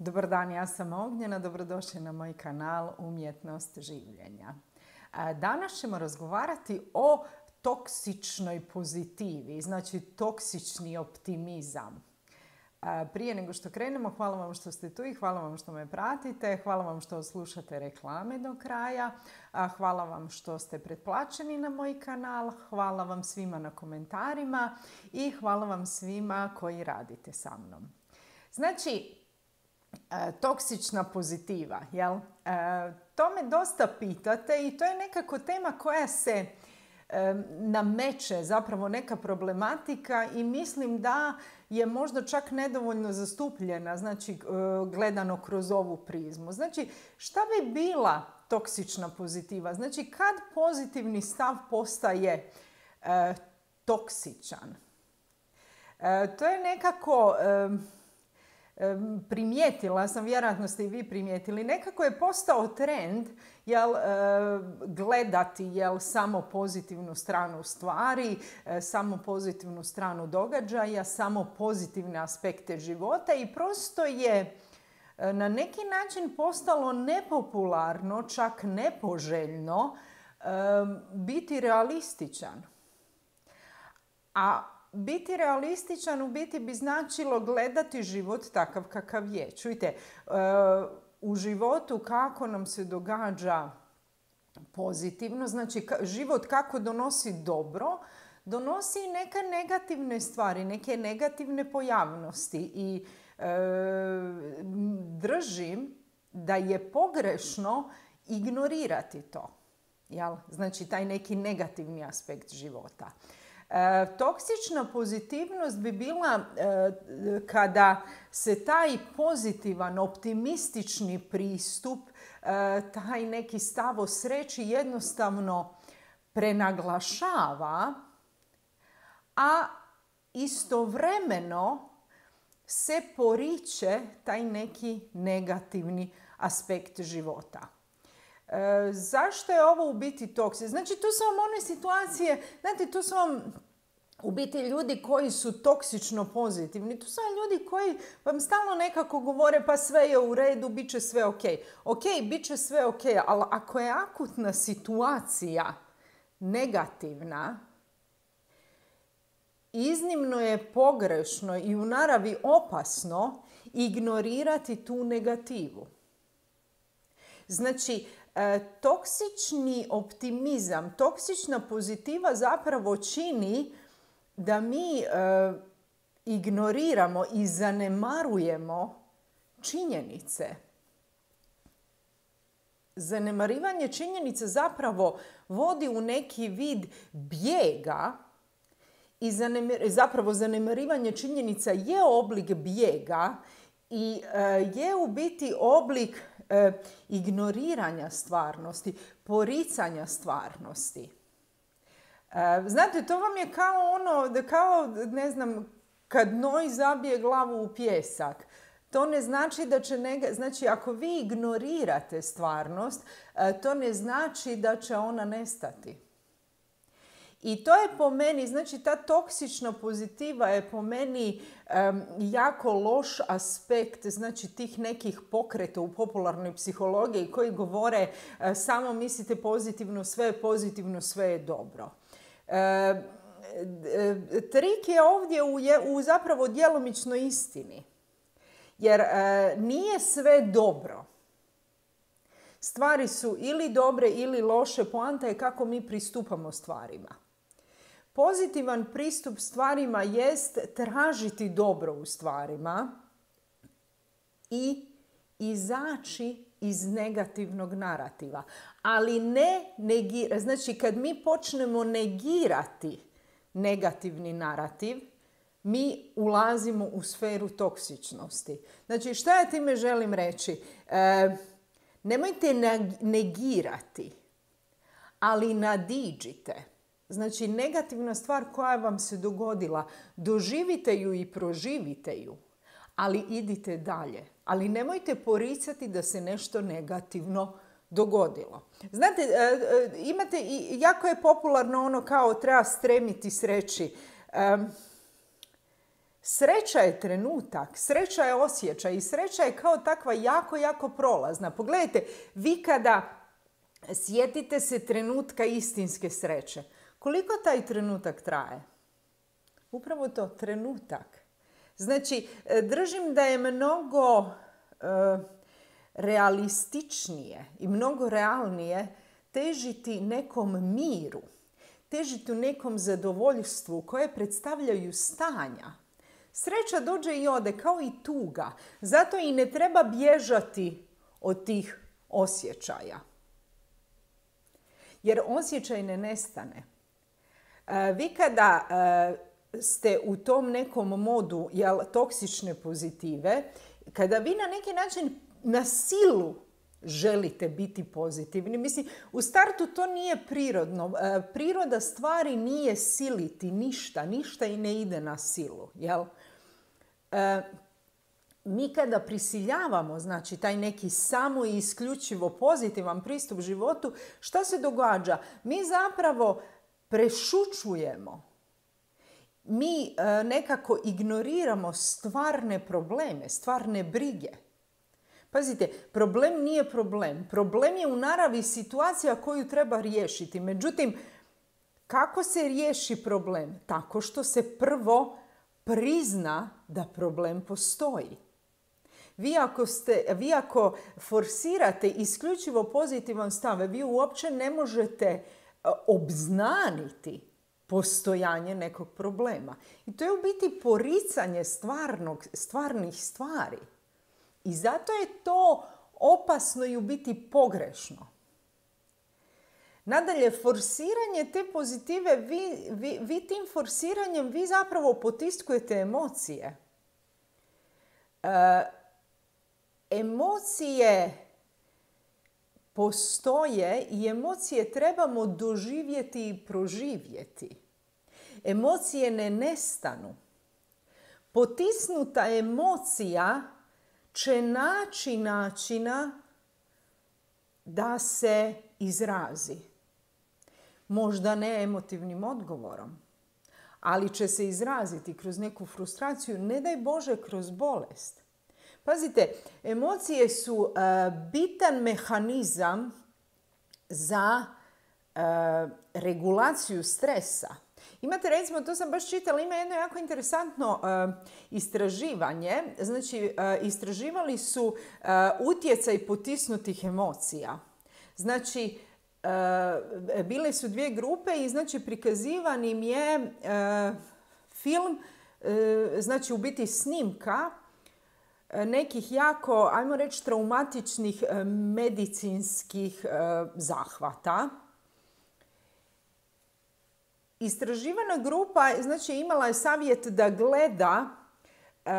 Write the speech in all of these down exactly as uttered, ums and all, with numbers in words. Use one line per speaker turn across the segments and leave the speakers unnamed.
Dobar dan, ja sam Ognjena, dobrodošli na moj kanal Umjetnost življenja. Danas ćemo razgovarati o toksičnoj pozitivi, znači toksični optimizam. Prije nego što krenemo, hvala vam što ste tu i hvala vam što me pratite, hvala vam što slušate reklame do kraja, hvala vam što ste pretplaćeni na moj kanal, hvala vam svima na komentarima i hvala vam svima koji radite sa mnom. Znači, toksična pozitiva, jel? To me dosta pitate i to je nekako tema koja se nameće, zapravo neka problematika i mislim da je možda čak nedovoljno zastupljena, znači gledano kroz ovu prizmu. Znači, šta bi bila toksična pozitiva? Znači, kad pozitivni stav postaje e, toksičan? E, to je nekako... E, primijetila sam, vjerojatno ste i vi primijetili, nekako je postao trend jel, gledati jel, samo pozitivnu stranu stvari, samo pozitivnu stranu događaja, samo pozitivne aspekte života i prosto je na neki način postalo nepopularno, čak nepoželjno biti realističan. A biti realističan u biti bi značilo gledati život takav kakav je. Čujte, u životu kako nam se događa pozitivno, znači život kako donosi dobro, donosi i neke negativne stvari, neke negativne pojavnosti i e, držim da je pogrešno ignorirati to. Jel? Znači taj neki negativni aspekt života. E, toksična pozitivnost bi bila e, kada se taj pozitivan, optimistični pristup, e, taj neki stav o sreći jednostavno prenaglašava, a istovremeno se poriče taj neki negativni aspekt života. E, zašto je ovo u biti toksično? Znači, to su vam one situacije, znate, to su vam u biti ljudi koji su toksično pozitivni. To su vam ljudi koji vam stalno nekako govore pa sve je u redu, bit će sve ok. Ok, bit će sve ok, ali ako je akutna situacija negativna, iznimno je pogrešno i u naravi opasno ignorirati tu negativu. Znači, E, toksični optimizam, toksična pozitiva zapravo čini da mi e, ignoriramo i zanemarujemo činjenice. Zanemarivanje činjenica zapravo vodi u neki vid bijega i zanemar, zapravo zanemarivanje činjenica je oblik bijega i e, je u biti oblik E, ignoriranja stvarnosti, poricanja stvarnosti. E, znate, to vam je kao ono, da kao, ne znam, kad noj zabije glavu u pijesak. To ne znači da će, nega, znači ako vi ignorirate stvarnost, e, to ne znači da će ona nestati. I to je po meni, znači ta toksična pozitiva je po meni um, jako loš aspekt, znači tih nekih pokreta u popularnoj psihologiji koji govore uh, samo mislite pozitivno, sve je pozitivno, sve je dobro. Uh, trik je ovdje u, je, u zapravo djelomičnoj istini, jer uh, nije sve dobro. Stvari su ili dobre ili loše, poanta je kako mi pristupamo stvarima. Pozitivan pristup stvarima jest tražiti dobro u stvarima i izaći iz negativnog narativa. Ali ne negirati. Znači, kad mi počnemo negirati negativni narativ, mi ulazimo u sferu toksičnosti. Znači, šta ja time želim reći? E, nemojte negirati, ali nadiđite. Znači, negativna stvar koja vam se dogodila, doživite ju i proživite ju, ali idite dalje. Ali nemojte poricati da se nešto negativno dogodilo. Znate, imate, jako je popularno ono kao treba stremiti sreći. Sreća je trenutak, sreća je osjećaj i sreća je kao takva jako, jako prolazna. Pogledajte, vi kada sjetite se trenutka istinske sreće, koliko taj trenutak traje? Upravo to, trenutak. Znači, držim da je mnogo e, realističnije i mnogo realnije težiti nekom miru, težiti u nekom zadovoljstvu koje predstavljaju stanja. Sreća dođe i ode kao i tuga, zato i ne treba bježati od tih osjećaja. Jer osjećaj ne nestane. E, vi kada e, ste u tom nekom modu jel, toksične pozitive, kada vi na neki način na silu želite biti pozitivni, mislim, u startu to nije prirodno. E, priroda stvari nije siliti ništa, ništa i ne ide na silu, jel? E, mi kada prisiljavamo, znači taj neki samo i isključivo pozitivan pristup životu, šta se događa? Mi zapravo prešućujemo. Mi e, nekako ignoriramo stvarne probleme, stvarne brige. Pazite, problem nije problem. Problem je u naravi situacija koju treba riješiti. Međutim, kako se riješi problem? Tako što se prvo prizna da problem postoji. Vi ako, ste, vi ako forsirate isključivo pozitivan stav, vi uopće ne možete obznaniti postojanje nekog problema. I to je u biti poricanje stvarnog, stvarnih stvari. I zato je to opasno i u biti pogrešno. Nadalje, forsiranje te pozitive, vi, vi, vi tim forsiranjem vi zapravo potiskujete emocije. E, emocije postoje i emocije trebamo doživjeti i proživjeti. Emocije ne nestanu. Potisnuta emocija će naći načina da se izrazi. Možda ne emotivnim odgovorom, ali će se izraziti kroz neku frustraciju, ne daj Bože kroz bolest. Pazite, emocije su uh, bitan mehanizam za uh, regulaciju stresa. Imate, recimo, to sam baš čitala, ima jedno jako interesantno uh, istraživanje. Znači, uh, istraživali su uh, utjecaj potisnutih emocija. Znači, uh, bile su dvije grupe i znači prikazivan im je uh, film, uh, znači u biti snimka uh, nekih jako, ajmo reći, traumatičnih uh, medicinskih uh, zahvata. Istraživana grupa, znači, imala je savjet da gleda uh,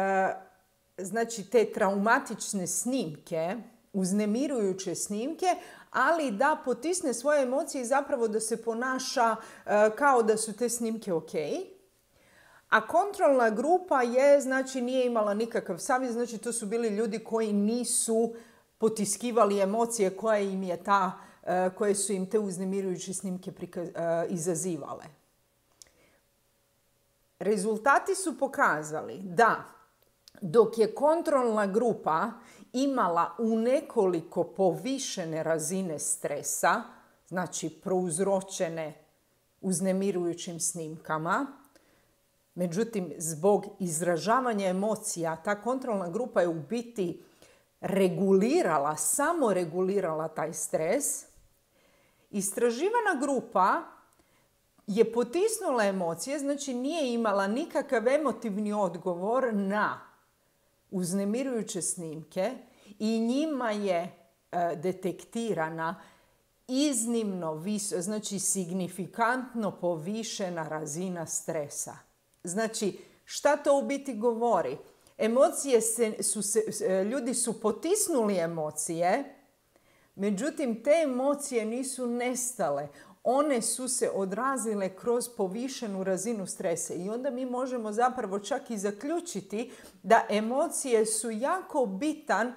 znači, te traumatične snimke, uznemirujuće snimke, ali da potisne svoje emocije i zapravo da se ponaša uh, kao da su te snimke ok. A kontrolna grupa je, znači, nije imala nikakav savjet, znači to su bili ljudi koji nisu potiskivali emocije koje im je ta, uh, koje su im te uznemirujuće snimke prikaz, uh, izazivale. Rezultati su pokazali da dok je kontrolna grupa imala u nekoliko povišene razine stresa, znači prouzročene uznemirujućim snimkama, međutim, zbog izražavanja emocija, ta kontrolna grupa je u biti regulirala, samo regulirala taj stres. Istraživana grupa je potisnula emocije, znači nije imala nikakav emotivni odgovor na uznemirujuće snimke i njima je e, detektirana iznimno, vis, znači signifikantno povišena razina stresa. Znači, šta to u biti govori? Emocije se, su se, ljudi su potisnuli emocije, međutim te emocije nisu nestale. One su se odrazile kroz povišenu razinu stresa i onda mi možemo zapravo čak i zaključiti da emocije su jako bitan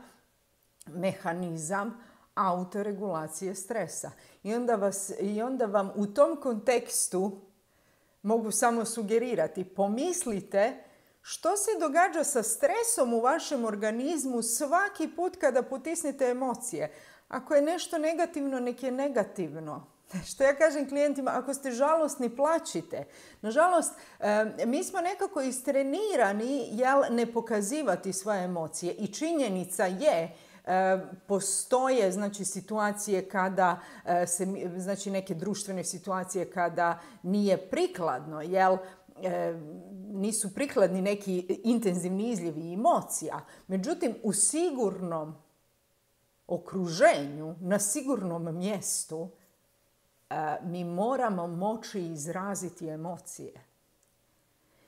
mehanizam autoregulacije stresa. I onda, vas, i onda vam u tom kontekstu mogu samo sugerirati, pomislite Što se događa sa stresom u vašem organizmu svaki put kada potisnete emocije? Ako je nešto negativno, nek je negativno. Što ja kažem klijentima, ako ste žalosni, plačite. Nažalost, mi smo nekako istrenirani jel, ne pokazivati svoje emocije i činjenica je, postoje znači, situacije kada se, znači neke društvene situacije kada nije prikladno, jel, nisu prikladni neki intenzivni izljevi emocija. Međutim, u sigurnom okruženju, na sigurnom mjestu, mi moramo moći izraziti emocije.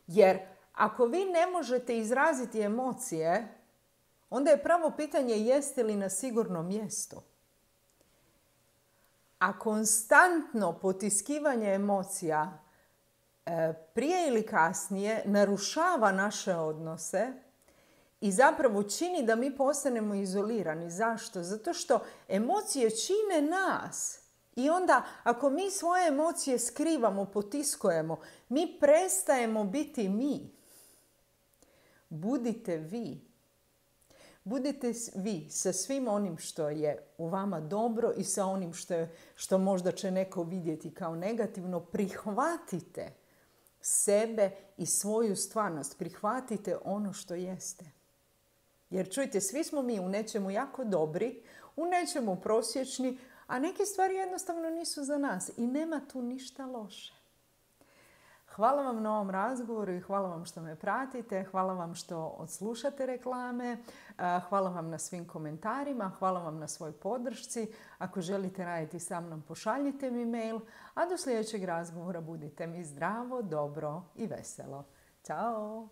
Jer ako vi ne možete izraziti emocije, onda je pravo pitanje jeste li na sigurnom mjestu. A konstantno potiskivanje emocija prije ili kasnije narušava naše odnose i zapravo čini da mi postanemo izolirani. Zašto? Zato što emocije čine nas. I onda ako mi svoje emocije skrivamo, potiskujemo, mi prestajemo biti mi. Budite vi. Budite vi sa svim onim što je u vama dobro i sa onim što, je, što možda će neko vidjeti kao negativno. Prihvatite sebe i svoju stvarnost. Prihvatite ono što jeste. Jer čujte, svi smo mi u nečemu jako dobri, u nečemu prosječni, a neke stvari jednostavno nisu za nas i nema tu ništa loše. Hvala vam na ovom razgovoru i hvala vam što me pratite, hvala vam što odslušate reklame, hvala vam na svim komentarima, hvala vam na svoj podršci. Ako želite raditi sa mnom, pošaljite mi mail, a do sljedećeg razgovora budite mi zdravo, dobro i veselo. Ćao!